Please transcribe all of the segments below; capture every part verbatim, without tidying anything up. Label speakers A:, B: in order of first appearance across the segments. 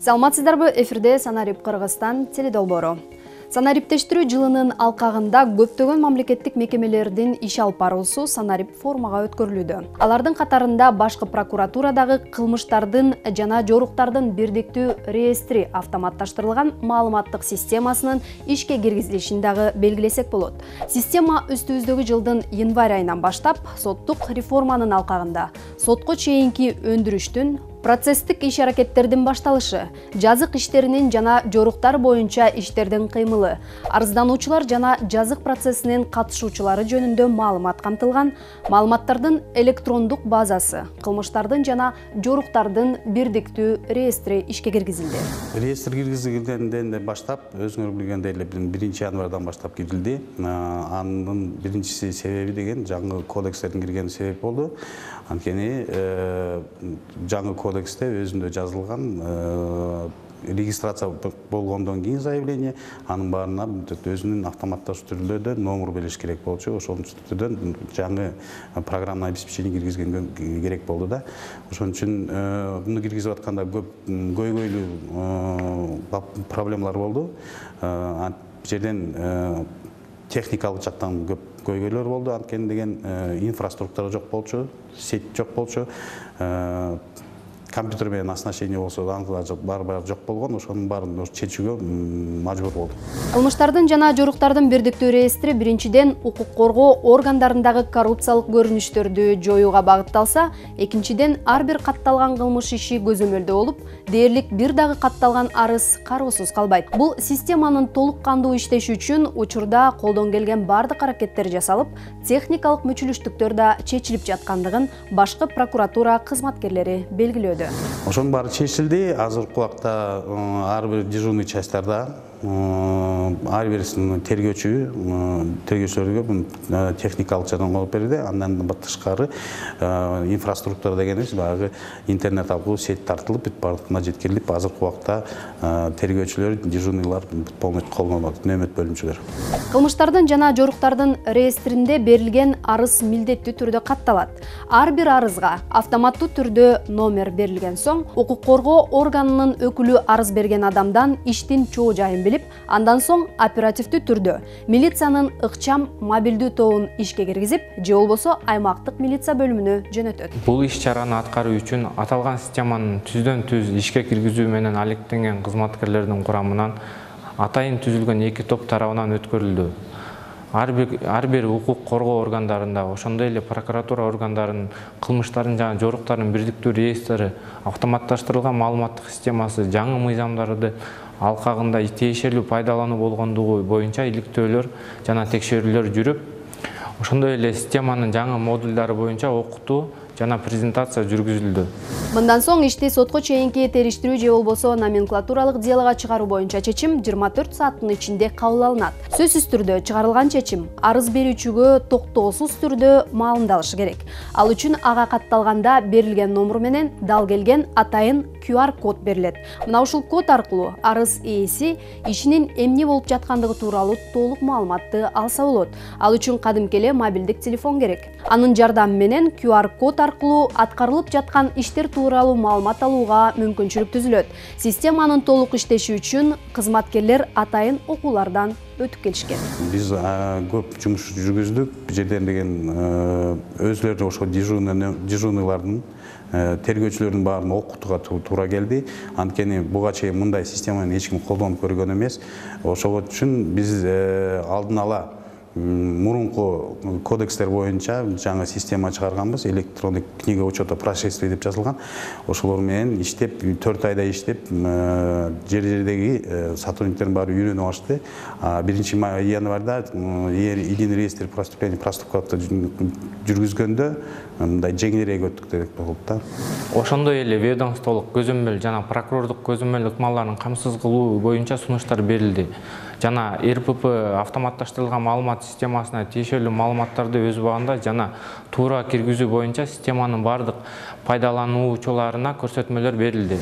A: Саламатсыздарбы, эфирде Санарип Кыргызстан теледолбоору. Санариптештирүү жылынын алкагында көптөгөн мамлекеттик мекемелердин иш алып баруусу Санарип форумга өткөрүлүүдө. Алардын катарында башкы прокуратурадагы кылмыштардын жана жоруктардын бирдиктүү реестри автоматташтырылган маалыматтык системасынын ишке киргизилишин дагы белгилесек болот. Система үстүбүздөгү жылдын январь айынан баштап соттук реформанын алкагында сотко чейинки өндүрүштүн, процесстик иш-аракеттердин башталышы, жазык иштеринин жана жоруктар боюнча иштердин кыймылы, арыздануучулар жана жазык процессинин катышуучулары жөнүндө маалымат камтылган, маалыматтардын электрондук базасы, кылмыштардын жана жоруктардын бирдиктүү реестри ишке киргизилди.
B: Реестр киргизилгенден баштап, өзүңөр билгендей эле биринчи январдан баштап киргизилди. Анын биринчиси себеби деген жаңы кодекстердин киргени себеп болду. Анткени жаңы кодексте өзүндө жазылган регистрация болгондон кийин заявление, анын баарына өзүнүн автоматташуу түрдө номер бериш керек болчу. Ошол түрдөн жаңы программный обеспечение киргизген керек болду да. Ошон үчүн муну киргизип атканда көп көйгөйлүү проблемалар болду. Ал жерден техникалык жактан көп көйгөйлөр болду. Анткени деген инфраструктура жок болчу, сеть жок болчу. Компьютер менен оснащение болсо баары жок болгон, ошонун баарын чечүүгө мажбур болдук.
A: Кылмыштардын жана жоруктардын бирдиктүү реестри биринчиден укук коргоо органдарындагы коррупциялык көрүнүштөрдү жоюуга багытталса, экинчиден ар бир катталган кылмыш иши көзөмөлдө болуп, дээрлик бир дагы катталган арыз кароосуз калбайт. Бул системанын толук кандуу иштеши үчүн учурда колдон келген бардык аракеттер жасалып, техникалык мүчүлүштүктөр да чечилип жаткандыгын башкы прокуратура кызматкерлери белгилөөдө.
B: Ошонун баары чечилди. Азыркы убакта ар бир дежурный частьтарда ар бир тергөөчү тергөөчүлөргө техникалык жардам алып берди. Андан тышкары инфраструктура дегенибиз баягы интернет аркылуу сеть тартылып, бүт бардыгына жеткирилип, азыркы убакта тергөөчүлөр, дежурныйлар полностью колдонулат, нөөмөт бөлүмчүлөр.
A: Кылмыштардын жана жоруктардын реестринде берилген арыз милдеттүү түрдө катталат. Ар бир арызга автоматтуу түрдө номер берилген соң, укук коргоо органынын өкүлү арыз берген адамдан иштин чоо жайын билип, андан соң оперативдүү түрдө милициянын ыкчам мобилдүү тобун ишке киргизип, же болбосо аймактык милиция бөлүмүнө жөнөтөт.
C: Бул иш-чараны аткаруу үчүн аталган системанын түздөн-түз ишке киргизүү менен алектенген кызматкерлердин курамынан атайын түзүлгөн эки топ тарабынан өткөрүлдү. Ар бир ар бир укук коргоо органдарында, ошондой эле прокуратура органдарынын кылмыштардын жана жоруктардын бирдиктүү реестри, автоматташтырылган маалыматтык системасы, жаңы мыйзамдарды алкагында тиешелүү пайдалануу болгондугу боюнча иликтөөлөр жана текшерүүлөр жүрүп, ошондой эле системанын жаңы модулдары боюнча окутуу жана презентация жүргүзүлдү.
A: Мындан соң ишти сотко чейинки териштирүү же болбосо номенклатуралык делога чыгаруу боюнча чечим жыйырма төрт сааттын ичинде кабыл алынат. Сөзсүз түрдө чыгарылган чечим арыз берүүчүгө токтоосуз түрдө маалымдалышы керек. Ал үчүн ага катталганда берилген номер менен дал келген атайын ку ар код берилет. Мына ушул код аркылуу арыз ээси ишинин эмне болуп жаткандыгы тууралуу толук маалыматты алса болот. Ал үчүн кадимки эле мобилдик телефон керек. Анын жардамы менен ку ар код аркылуу аткарылып жаткан иштер тууралуу маалымат алууга мүмкүнчүлүк түзүлөт. Системанын толук иштеши үчүн кызматкерлер атайын окуулардан өтүп келишкен.
B: Биз көп жумуш жүргүздүк. Бул жерден деген өзлөрү ошо дежурныйлардын, тергөөчүлөрдүн баарын окутууга туура келди. Анткени буга чейин мындай системаны эч ким колдонуп көргөн эмес. Ошол үчүн биз алдын ала мурунку кодекстер боюнча жаңы система чыгарганбыз. Электрондук книга учета происшествий деп жазылган. Ошолор менен иштеп, төрт айда иштеп, жер жердеги сотрудниктердин баары үйрөнүп алышты. биринчи январда единый реестр преступлений проступкатты жүргүзгөндө мындай жеңилирээк өттүк деп болот да.
C: Ошондой эле ведомстволук көзөмөл жана прокурордук көзөмөл ыкмаларын камсыз кылуу боюнча сунуштар берилди. Жана эр пэ пэ автоматташтырылган маалымат системасына тиешелүү маалыматтарды өз убагында жана туура киргизүү боюнча системанын бардык пайдалануучуларына көрсөтмөлөр берилди.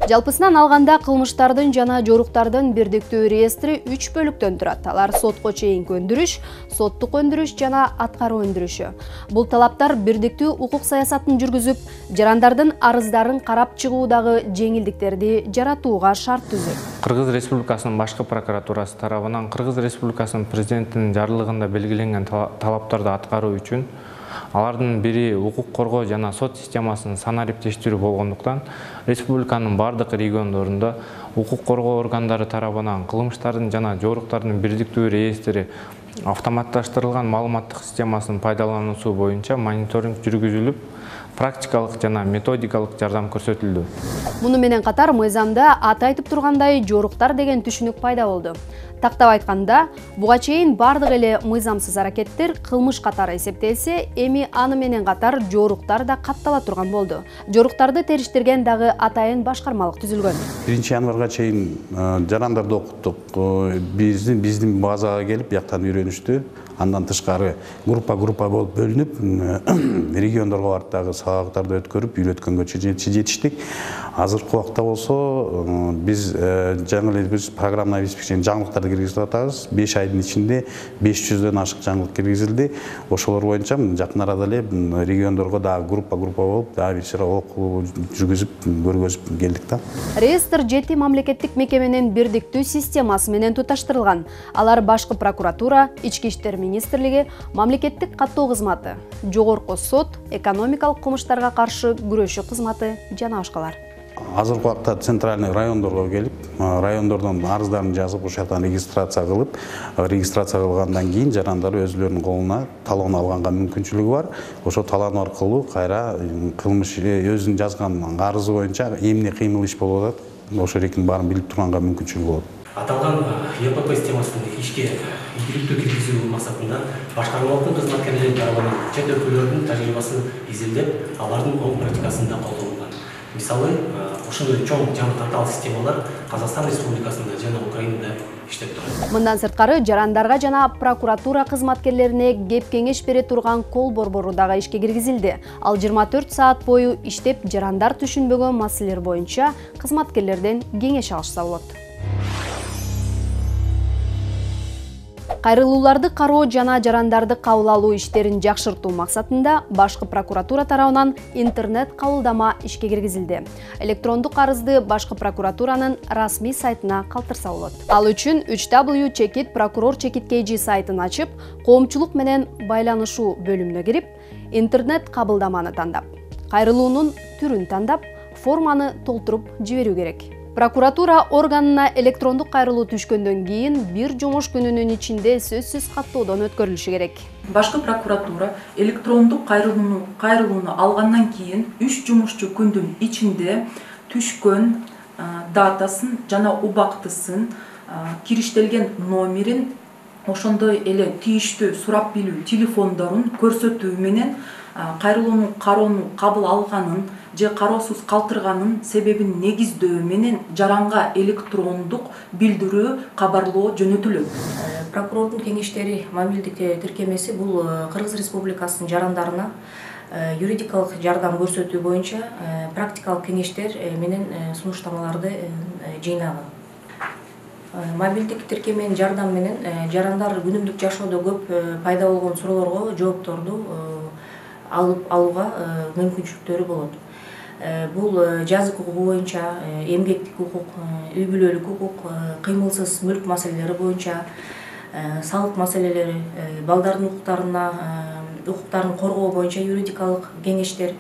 A: Жалпысынан алганда кылмыштардын жана жоруктардын бирдиктүү реестри үч бөлүктөн турат. Алар сотко чейинки өндүрүш, соттук өндүрүш жана аткаруу өндүрүшү. Бул талаптар бирдиктүү укук саясатын жүргүзүп, жарандардын арыздарын карап чыгуудагы жеңилдиктерди жаратууга шарт түзөт.
C: Кыргыз Республикасынын башкы прокуратурасы тарабынан Кыргыз Республикасынын президентинин жарлыгында белгиленген талаптарды аткаруу үчүн алардын бири укук коргоо жана сот системасын санариптештирүү болгондуктан республиканын бардык региондорунда укук коргоо органдары тарабынан кылмыштардын жана жоруктардын бирдиктүү реестри автоматташтырылган маалыматтык системасын пайдалануусу боюнча мониторинг жүргүзүлүп, практикалык жана методикалык жардам көрсөтүлдү.
A: Муну менен катар мыйзамда аты айтып тургандай жоруктар деген түшүнүк пайда болду. Тактап айтканда, буга чейин бардык эле мыйзамсыз аракеттер кылмыш катары эсептелсе, эми аны менен катар жоруктар да каттала турган болду. Жоруктарды териштирген дагы атайын башкармалык түзүлгөн.
B: биринчи январга чейин жарандарды окуттук. Биздин биздин базага келип, жактан үйрөнүштү. Андан тышкары группа-группа болуп бөлүнүп, региондорго барып дагы сабактарды өткөрүп, үйрөткөнгө жетиштик. Азыркы убакта болсо биз жаңы эле биз программный обеспечение жаңылыктарды киргизип атабыз. беш айдын ичинде беш жүздөн ашык жаңылык киргизилди. Ошолор боюнча жакын арада эле региондорго дагы группа-группа болуп, дагы бир сыра окуу жүргүзүп, көргөзүп келдик да.
A: Реестр жети мамлекеттик мекеменин бирдиктүү системасы менен туташтырылган. Алар башкы прокуратура, ички иштер министрлиги, мамлекеттик каттоо кызматы, жогорку сот, экономикалык кылмыштарга каршы күрөшүү кызматы жана башкалар.
B: Азыркы убакта центральный райондорго келип, райондордон арыздарын жазып, ошол жактан регистрация кылып, регистрация кылгандан кийин жарандар өзүлөрүнүн колуна талон алганга мүмкүнчүлүгү бар. Ошол талон аркылуу кайра кылмыш өзүнүн жазган арызы боюнча эмне кыймыл иш болуп атат, ошол эркин баарын билип турганга мүмкүнчүлүгү болот.
D: Аталган Е П П системасын ишке ийгиликтүү киргизүү максатында башкармалыктын кызматкерлери тарабынан чет өлкөлөрдүн тажрыйбасын изилдеп, алардын оң практикасында колдонулган. Мисалы, ошондой чоң жана татаал системалар Казакстан Республикасында жана Украинада иштеп турат.
A: Мындан сырткары жарандарга жана прокуратура кызматкерлерине кеп кеңеш бере турган кол борбору дагы ишке киргизилди. Ал жыйырма төрт саат бою иштеп, жарандар түшүнбөгөн маселелер боюнча кызматкерлерден кеңеш алышса болот. Кайрылууларды кароо жана жарандарды кабыл алуу иштерин жакшыртуу максатында башкы прокуратура тарабынан интернет кабылдама ишке киргизилди. Электрондук арызды башкы прокуратуранын расмий сайтына калтырса болот. Ал үчүн үч дабл ю чекит прокурор чекит кей жи сайтын ачып, коомчулук менен байланышуу бөлүмүнө кирип, интернет кабылдаманы тандап, кайрылуунун түрүн тандап, форманы толтуруп жиберүү керек. Прокуратура органына электрондук кайрылуу түшкөндөн кийин бир жумуш күнүнүн ичинде сөзсүз каттоодон өткөрүлүшү керек.
E: Башкы прокуратура электрондук кайрылууну кайрылууну алгандан кийин үч жумушчу күндүн ичинде түшкөн датасын жана убактысын, кириштелген номерин, ошондой эле тийиштүү сурап билүү телефондорун көрсөтүү менен кайрылууну кароону кабыл алганын же кароосуз калтырганын себебин негиздөө менен жаранга электрондук билдирүү кабарлоо жөнөтүлөт.
F: Прокурордун кеңештери мобилдик тиркемеси бул Кыргыз Республикасынын жарандарына юридикалык жардам көрсөтүү боюнча практикалык кеңештер менен сунуштамаларды жыйнаган. Мобилдик тиркеменин жардамы менен жарандар күнүмдүк жашоодо көп пайда болгон суроолорго жоопторду алып алууга мүмкүнчүлүктөрү болот. Бул жазык укугу боюнча, эмгектик укук, үй бүлөлүк укук, кыймылсыз мүлк маселелери боюнча, салык маселелери, балдардын укуктарына, укуктарын коргоо боюнча юридикалык кеңештер,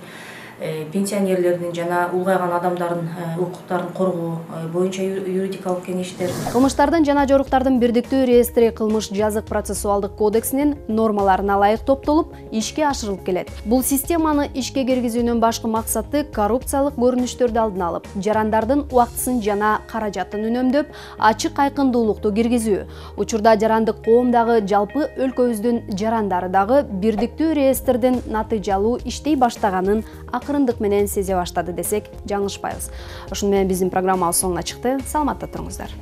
F: пенсионерлердин жана улгайган адамдардын укуктарын коргоо боюнча юридикалык кеңештер.
A: Кылмыштардын жана жоруктардын бирдиктүү реестри кылмыш жазык процессуалдык кодексинин нормаларына ылайык топтолуп, ишке ашырылып келет. Бул системаны ишке киргизүүнүн башкы максаты коррупциялык көрүнүштөрдү алдын алып, жарандардын убактысын жана каражатын үнөмдөп, ачык айкындуулукту киргизүү. Учурда жарандык коом дагы жалпы өлкөбүздүн жарандары дагы бирдиктүү реестрдин натыйжалуу иштей баштаганын акырындык менен сезе баштады десек жаңылышпайбыз. Ошону менен биздин программабыз соңуна чыкты. Саламатта туруңуздар.